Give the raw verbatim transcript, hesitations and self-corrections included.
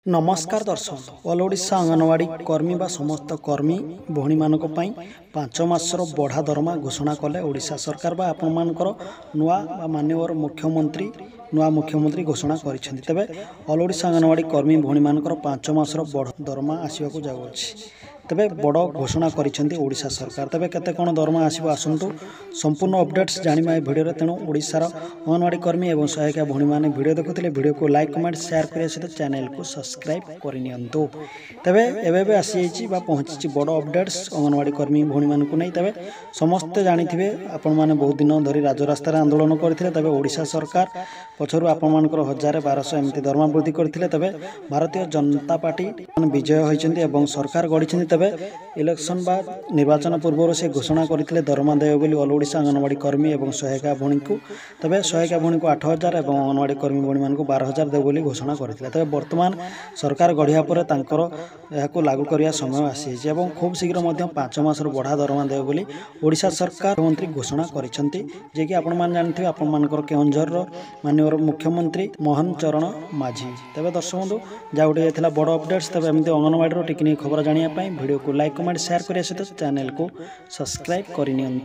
ନମସ୍କାର ଦର୍ଶକ ଅଲ୍ ଓଡ଼ିଶା ଅଙ୍ଗନବାଡ଼ି କର୍ମୀ ବା ସମସ୍ତ କର୍ମୀ ଭଉଣୀମାନଙ୍କ ପାଇଁ ପାଞ୍ଚ ମାସର ବଢ଼ା ଦରମା ଘୋଷଣା କଲେ ଓଡ଼ିଶା ସରକାର ବା ଆପଣମାନଙ୍କର ନୂଆ ବା ମାନ୍ୟବର ମୁଖ୍ୟମନ୍ତ୍ରୀ ନୂଆ ମୁଖ୍ୟମନ୍ତ୍ରୀ ଘୋଷଣା କରିଛନ୍ତି। ତେବେ ଅଲ୍ ଓଡ଼ିଶା ଅଙ୍ଗନବାଡ଼ି କର୍ମୀ ଭଉଣୀମାନଙ୍କର ପାଞ୍ଚ ମାସର ବଢ଼ ଦରମା ଆସିବାକୁ ଯାଉଅଛି। ତେବେ ବଡ଼ ଘୋଷଣା କରିଛନ୍ତି ଓଡ଼ିଶା ସରକାର। ତେବେ କେତେ କ'ଣ ଦରମା ଆସିବ, ଆସନ୍ତୁ ସମ୍ପୂର୍ଣ୍ଣ ଅପଡ଼େଟ୍ସ ଜାଣିବା ଏ ଭିଡ଼ିଓରେ। ତେଣୁ ଓଡ଼ିଶାର ଅଙ୍ଗନବାଡ଼ି କର୍ମୀ ଏବଂ ସହାୟିକା ଭଉଣୀମାନେ ଭିଡ଼ିଓ ଦେଖୁଥିଲେ ଭିଡ଼ିଓକୁ ଲାଇକ୍, କମେଣ୍ଟ, ସେୟାର କରିବା ସହିତ ଚ୍ୟାନେଲକୁ ସବସ୍କ୍ରାଇବ୍ କରିନିଅନ୍ତୁ। ତେବେ ଏବେ ଏବେ ଆସିଯାଇଛି ବା ପହଞ୍ଚିଛି ବଡ଼ ଅପଡ଼େଟ୍ସ ଅଙ୍ଗନବାଡ଼ି କର୍ମୀ ଭଉଣୀମାନଙ୍କୁ ନେଇ। ତେବେ ସମସ୍ତେ ଜାଣିଥିବେ, ଆପଣମାନେ ବହୁତ ଦିନ ଧରି ରାଜରାସ୍ତାରେ ଆନ୍ଦୋଳନ କରିଥିଲେ। ତେବେ ଓଡ଼ିଶା ସରକାର ପଛରୁ ଆପଣମାନଙ୍କର ହଜାରେ ବାରଶହ ଏମିତି ଦରମା ବୃଦ୍ଧି କରିଥିଲେ। ତେବେ ଭାରତୀୟ ଜନତା ପାର୍ଟି ବିଜୟ ହୋଇଛନ୍ତି ଏବଂ ସରକାର ଗଢ଼ିଛନ୍ତି। ତେବେ ଇଲେକ୍ସନ୍ ବା ନିର୍ବାଚନ ପୂର୍ବରୁ ସେ ଘୋଷଣା କରିଥିଲେ ଦରମା ଦେବେ ବୋଲି ଅଲ୍ ଓଡ଼ିଶା ଅଙ୍ଗନବାଡ଼ି କର୍ମୀ ଏବଂ ସହାୟିକା ଭଉଣୀଙ୍କୁ। ତେବେ ସହାୟିକା ଭଉଣୀଙ୍କୁ ଆଠ ହଜାର ଏବଂ ଅଙ୍ଗନବାଡ଼ି କର୍ମୀ ଭଉଣୀମାନଙ୍କୁ ବାର ହଜାର ଦେବେ ବୋଲି ଘୋଷଣା କରିଥିଲେ। ତେବେ ବର୍ତ୍ତମାନ ସରକାର ଗଢ଼ିବା ପରେ ତାଙ୍କର ଏହାକୁ ଲାଗୁ କରିବା ସମୟ ଆସିଯାଇଛି ଏବଂ ଖୁବ୍ ଶୀଘ୍ର ମଧ୍ୟ ପାଞ୍ଚ ମାସର ବଢ଼ା ଦରମା ଦେବେ ବୋଲି ଓଡ଼ିଶା ସରକାର ମନ୍ତ୍ରୀ ଘୋଷଣା କରିଛନ୍ତି, ଯିଏକି ଆପଣମାନେ ଜାଣିଥିବେ ଆପଣମାନଙ୍କର କେଉଁଝରର ମାନ୍ୟବର ମୁଖ୍ୟମନ୍ତ୍ରୀ ମୋହନ ଚରଣ ମାଝୀ। ତେବେ ଦର୍ଶକ ବନ୍ଧୁ, ଯାହା ଗୋଟେ ଥିଲା ବଡ଼ ଅପଡ଼େଟ୍ସ। ତେବେ ଏମିତି ଅଙ୍ଗନବାଡ଼ିର ଟିକିନିଖି ଖବର ଜାଣିବା ପାଇଁ ଭିଡ଼ିଓକୁ ଲାଇକ୍, କମେଣ୍ଟ, ସେୟାର କରିବା ସହିତ ଚ୍ୟାନେଲକୁ ସବସ୍କ୍ରାଇବ୍ କରିନିଅନ୍ତୁ।